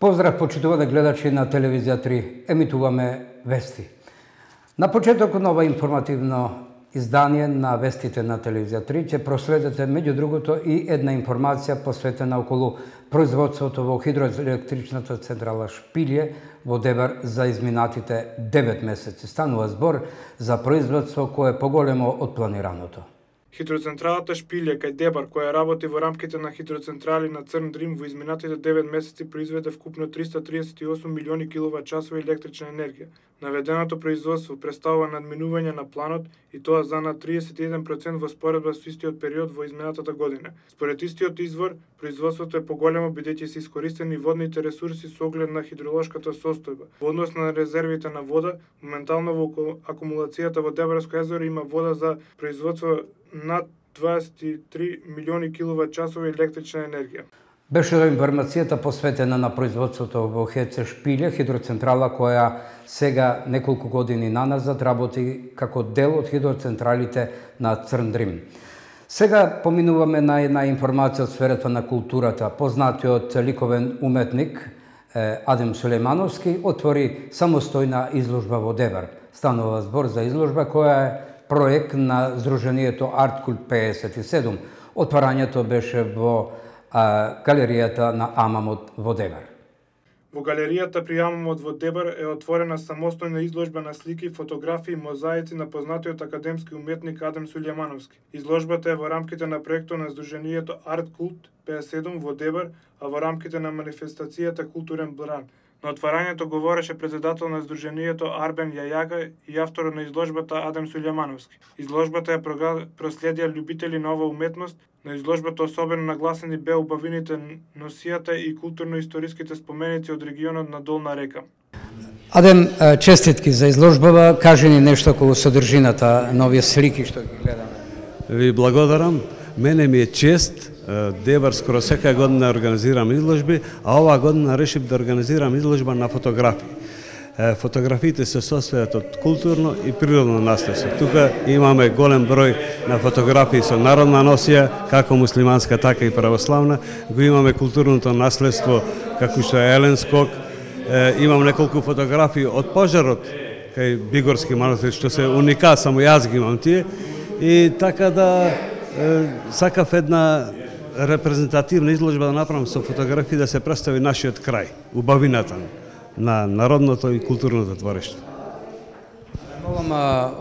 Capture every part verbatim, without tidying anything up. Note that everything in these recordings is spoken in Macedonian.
Поздрав, почитувани гледачи на Телевизија три, емитуваме вести. На почетокот на ова информативно издание на вестите на Телевизија три ќе проследите меѓу другото и една информација посветена околу производството во хидроелектричната централа Шпилје во Дебар за изминатите девет месеци. Станува збор за производство кое е поголемо од планираното. Хидроцентралата Шпилје кај Дебар, која работи во рамките на хидроцентрали на Црн Дрим, во изминатите девет месеци произведе вкупно триста триесет и осум милиони киловат-часови електрична енергија. Наведеното производство представува надминување на планот и тоа за над триесет и еден процент во споредба со истиот период во изминатата година. Според истиот извор, производството е поголемо бидејќи се искористени водните ресурси со оглед на хидролошката состојба. Во однос на резервите на вода, моментално во акумулацијата во Дебарско езеро има вода за производство над дваесет и три милиони киловат-часови електрична енергија. Беше информацијата посветена на производството во ХЕЦ Шпилје, хидроцентрала која сега неколку години наназад работи како дел од хидроцентралите на Црн Дрим. Сега поминуваме на една информација од сферата на културата. Познатиот ликовен уметник Адем Сулејмановски отвори самостојна изложба во Дебар. Станува збор за изложба која е проект на Сдруженијето Арткулт пеесет и седум. Отварањето беше во а, галеријата на Амамот во Дебар. Во галеријата при Амамот во Дебар е отворена самостојна изложба на слики, фотографии и мозаици на познатиот академски уметник Адем Сулејмановски. Изложбата е во рамките на проектот на Сдруженијето Арткулт пеесет и седум во Дебар, а во рамките на манифестацијата Културен бран. На отварањето говореше председател на Сдруженијето Арбен Јајага и авторот на изложбата Адем Сулејмановски. Изложбата ја проследија љубители на ова уметност. На изложбата особено нагласени беа убавините носијата и културно-историските споменици од регионот на Долна река. Адем, честитки за изложбава, кажи ни нешто околу содржината на овие слики што ги гледаме. Ви благодарам. Мене ми е чест. Дебар скоро секоја година организирам изложби, а оваа година решив да организирам изложба на фотографии. Фотографиите се состојат од културно и природно наследство. Тука имаме голем број на фотографии со народна носија, како муслиманска, така и православна. Го имаме културното наследство, како што е Елен скок. Имам неколку фотографии од пожарот кај Бигорски манастир, што се уникат, само јас ги имам тие. И така да сакав една репрезентативна изложба да направам со фотографии да се представи нашиот крај, убавината на народното и културното творештво.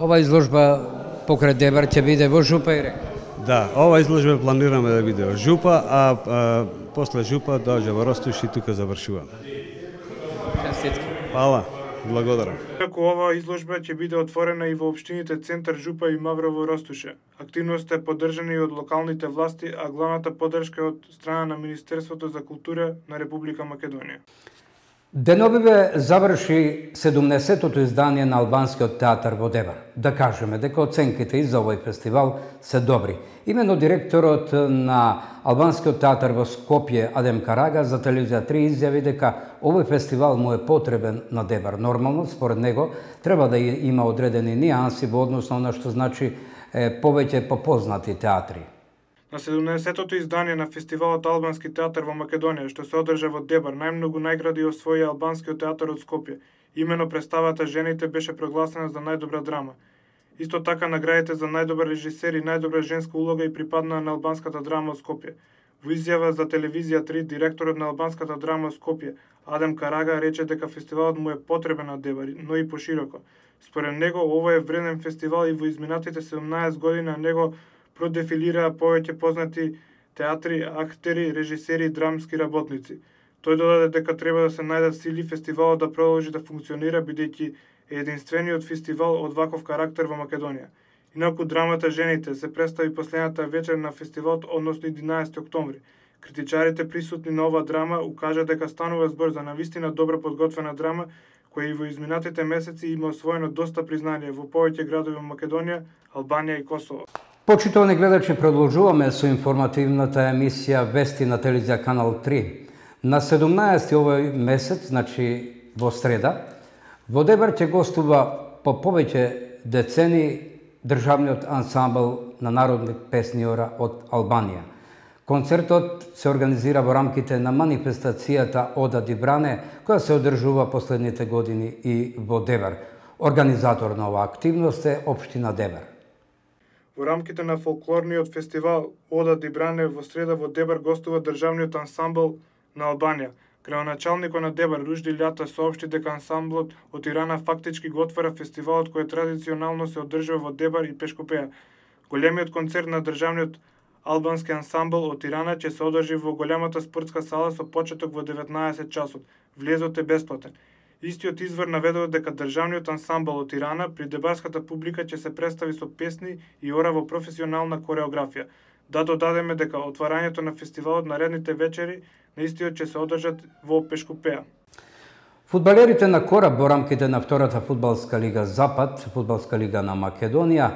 Ова изложба покрај Дебар ќе биде во Жупа и река? Да, ова изложба планираме да биде во Жупа, а, а после Жупа доаѓа во Ростуш и тука завршуваме. Честитки. Фала, благодарам. Како ова изложба ќе биде отворена и во општините Центар Жупа и Маврово Ростуше. Активноста е поддржана и од локалните власти, а главната поддршка е од страна на Министерството за култура на Република Македонија. Деновиве заврши седумдесетото издание на Албанскиот театар во Дебар. Да кажеме дека оценките и за овој фестивал се добри. Имено директорот на Албанскиот театар во Скопје Адем Карага за Телевизија три изјави дека овој фестивал му е потребен на Дебар. Нормално, според него, треба да има одредени нијанси во однос на она што значи е, повеќе попознати театри. На седумдесетото издание на фестивалот Албански театар во Македонија, што се одржа во Дебар, најмногу најгради освои Албанскиот театар од Скопје. Имено представата Жените беше прогласена за најдобра драма. Исто така наградите за најдобар режисер и најдобра женска улога и припадна на албанската драма од Скопје. Во изјава за Телевизија три, директорот на албанската драма од Скопје, Адем Карага, рече дека фестивалот му е потребен на Дебар, но и пошироко. Според него, ова е вреден фестивал и во изминатите седумнаесет години на него продефилираа повеќе познати театри, актери, режисери и драмски работници. Тој додаде дека треба да се најдат сили фестивалот да продолжи да функционира, бидејќи е единствениот фестивал од ваков карактер во Македонија. Инаку драмата Жените се представи последната вечер на фестивалот, односно единаесети октомври. Критичарите присутни на оваа драма укажа дека станува збор за навистина добро подготвена драма, која и во изминатите месеци има освоено доста признание во повеќе градови во Македонија, Албанија и Косово. Почитувани гледачи, продолжуваме со информативната емисија Вести на Телевизија Канал три. На седумнаесети овој месец, значи во среда, во Дебар ќе гостува по повеќе децени државниот ансамбл на народни песниора од Албанија, Концертот се организира во рамките на манифестацијата Ода ди Бране, која се одржува последните години и во Дебар. Организатор на оваа активност е Општина Дебар. Во рамките на фолклорниот фестивал Ода ди Бране во среда во Дебар гостува државниот ансамбл на Албанија. Градоначалникот на Дебар Ружди Љата соопшти дека ансамблот од Тирана фактички го отвара фестивалот кој традиционално се одржува во Дебар и Пешкопеја. Големиот концерт на државниот албански ансамбл од Тирана ќе се одржи во големата спортска сала со почеток во деветнаесет часот. Влезот е бесплатен. Истиот извор наведува дека државниот ансамбл од Тирана при дебарската публика ќе се представи со песни и ора во професионална кореографија. Да додадеме дека отварањето на фестивалот наредните вечери на истиот ќе се одржат во Пешкопеја. Фудбалерите на Кораб во рамките на втората фудбалска лига Запад, фудбалска лига на Македонија,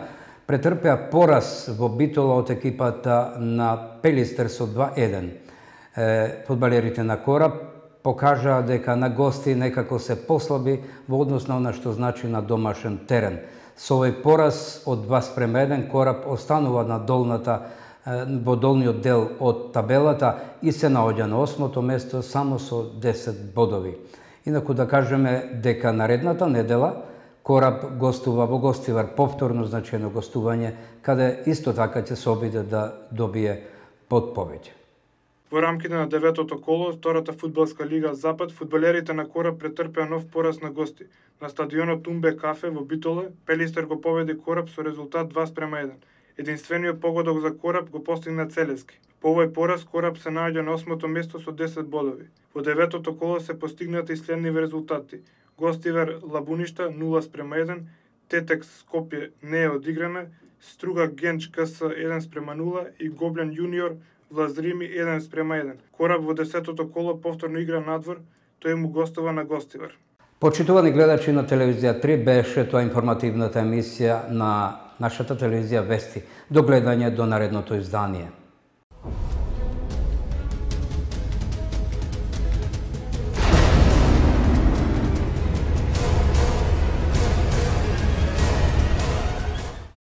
претрпеа пораз во Битола од екипата на Пелистер со два еден. Фудбалерите на Кораб покажаа дека на гости некако се послаби во однос на она што значи на домашен терен. Со овој пораз од два спрема еден Кораб останува на долната во долниот дел од табелата и се наоѓа на осмото место само со десет бодови. Инаку да кажеме дека наредната недела Кораб гостува во Гостивар, повторно значено гостување, каде исто така ќе се обиде да добие под повеќе. Во рамките на деветото коло, втората фудбалска лига Запад, фудбалерите на Кораб претрпеа нов пораз на гости. На стадионот Тумбе Кафе во Битоле, Пелистер го победи Кораб со резултат два спрема еден. Единствениот погодок за Кораб го постигна Целески. По овој пораз Кораб се наоѓа на осмото место со десет бодови. Во деветото коло се постигнати и следниви резултати. Гостивар Лабуништа нула спрема еден, Тетекс Скопје не е одиграна, Струга Генч КС еден спрема нула и Гоблен Јуниор Влазрими еден спрема еден. Кораб во десетото коло повторно игра надвор, тој му гостува на Гостивар. Почитувани гледачи на телевизија три, беше тоа информативната емисија на нашата телевизија Вести. До гледање до наредното издание.